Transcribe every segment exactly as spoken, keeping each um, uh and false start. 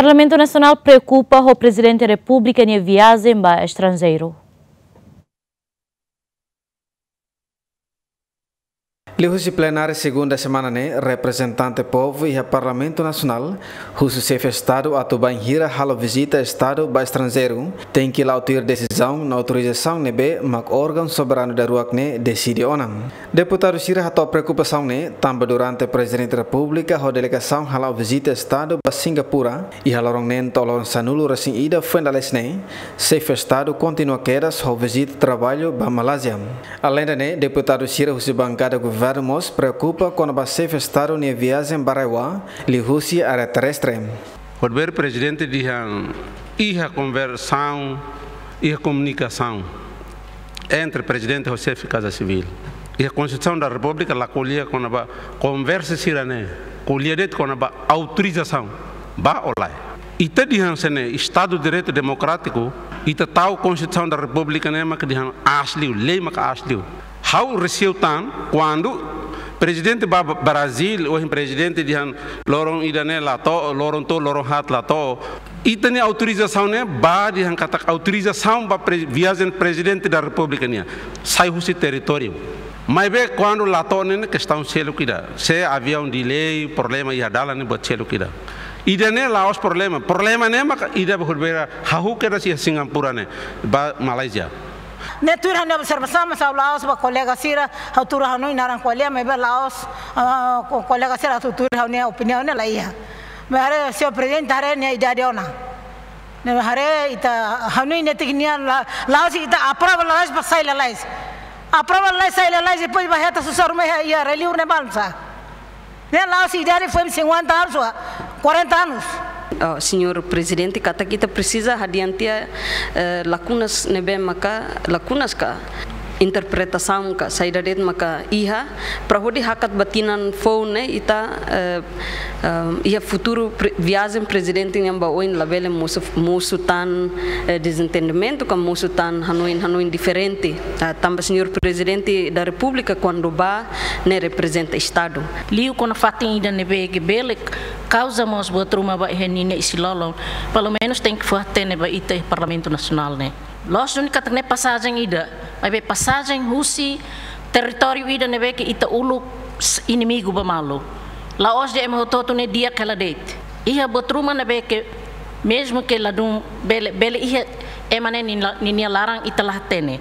Parlamentu Nasionál preokupa ho Prezidente Repúblika nia viajen ba estranjeiru. Liuhusi plenária segunda semana ne'e, reprezentante povu iha Parlamentu Nasionál husu Xefe Estadu atu bainhira halo vizita Estadu ba estranjeiru, tenke la'o tuir desizaun no autorizasaun ne'ebé mak órgaun soberanu daruak ne'e deside ona. Deputadu sira hato'o preokupasaun ne'e tanba durante Prezidente Repúblika ho delegasaun hala'o vizita Estadu ba Singapura iha loron neen to'o loron sanulu-resin-ida foin dala haat ne'e, Xefe Estadu kontinua kedas ho vizita traballu ba Malázia. Aleinde ne'e, deputadu sira husi bankada governu mós preokupa kona-ba Xefe Estadu nia viajen ba RAEOA liuhusi área terrestre. Horibainhira Prezidente dehan iha konversaun, iha komunikasaun entre Prezidente ho Xefe Kaza Sivíl. Iha Konstituisaun da Repúblika la ko'alia kona-ba konversa sira-ne'e, ko'alia de'it kona-ba autorizasaun ba ou lae. Ita dehan se ne'e Estadu Direitu Demokrátiku, ita tau Konstituisaun da Repúblika ne'e mak dehan aas liu, lei mak aas liu. Ha'u resiu tan kuandu Prezidente ba Brazíl, ohin Prezidente dehan loron ida ne'e la to'o, loron tolu, loron haat la to'o. Ita-nia autorizasaun ne'e ba dehan katak autorizasaun ba pre-, viajen Prezidente da Repúblika nian sai husi territóriu. Maibé kuandu la to'o ne'e kestaun seluk ida. Se aviaun delay, problema iha dalan ne'e buat seluk ida. Ida-ne'e la'ós problema. Problema ne'e maka ida horibainhira hahú kedas iha Singapura ne'e ba Malázia. Ne'e tuir ha'u-nia observasaun, mas ha'u la'ós ba kolega sira, ha'u tuur ha'u-nia naran ko'alia, maibé la'ós, ah, ko-, kolega sira atu tuir ha'u-nia opiniaun ne'e la iha. Maibé haree, señór Prezidente, haree nia idade ona. Ne'e haree ita ha'u-nia netik nia la, la'ós ita aprova lalais ba sai lalais. Aprova lalais sai lalais, depois ba hetan susar ruma iha, iha reliur ne'e balsa. Ne'e la'ós idade foin cinquenta anos ou quarenta anos. Oh, señór Prezidente, katak ita presiza hadi'a tiha, eh, lakunas ne'ebé maka, lakunas ka interpretasaun ka saida de'it maka iha, para hodi hakat ba tinan foun ne'e ita, eh, eh, iha futuru pre-, viajen Prezidente nian ba oin labele mosu, mosu tan, eh, dezentendimentu ka mosu tan hanoin, hanoin diferente. Ah, tanba señór Prezidente da Repúblika kuandu ba ne'e reprezenta Estadu. Liu kona fatin ida ne'ebé ke bele kauza mós buat ruma ba iha ninia isin-lolon. Pelumenus tenke fó-hatene ba ita iha Parlamentu Nasionál ne'e. Loos duni katak ne'e pasajen ida, maibé pasajen husi territóriu ida ne'ebé ke ita uluk s-, inimigu ba malu. La'ós dehan ema hotu-hotu ne'e di'ak hela de'it. Iha buat ruma ne'ebé ke mezmu ke ladún bele, bele iha ema ne'e nin la-, ninia laran ita la hatene.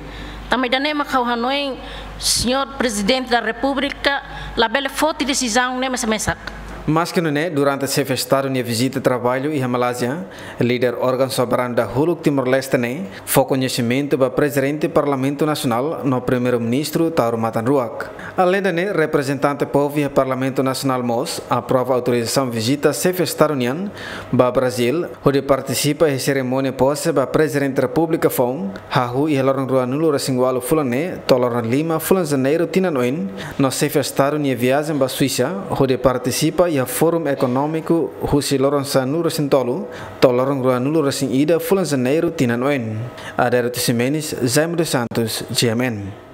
Tanba ida-ne'e mak ha'u hanoin señór Prezidente da Repúblika labele foti desizaun ne'e mesak-mesak. Maske nune'e, durante Xefe Estadu nia vizita traballu iha Malázia, líder órgaun soberanu dahuluk Timor-Leste ne'e fó koñesimentu ba Prezidente Parlamentu Nasionál no Primeiru-Ministru Taur Matan Ruak. Aleinde ne'e, reprezentante povu iha Parlamentu Nasionál mós aprova autorizasaun vizita Xefe Estadu nian ba Brazíl, hodi partisipa iha serimónia pose ba Prezidente Repúblika foun, hahú iha loron ruanulu-resin-ualu fulan ne'e to'o loron lima fulan Janeiru tinan oin, no Xefe Estadu nia viajen ba Suisa, hodi partisipa iha Fórum Ekonómiku husi loron sanulu-resin-tolu to'o loron ruanulu-resin-ida fulan Janeiru tinan oin. Adérito Ximenes, Jaime dos Santos, G M N.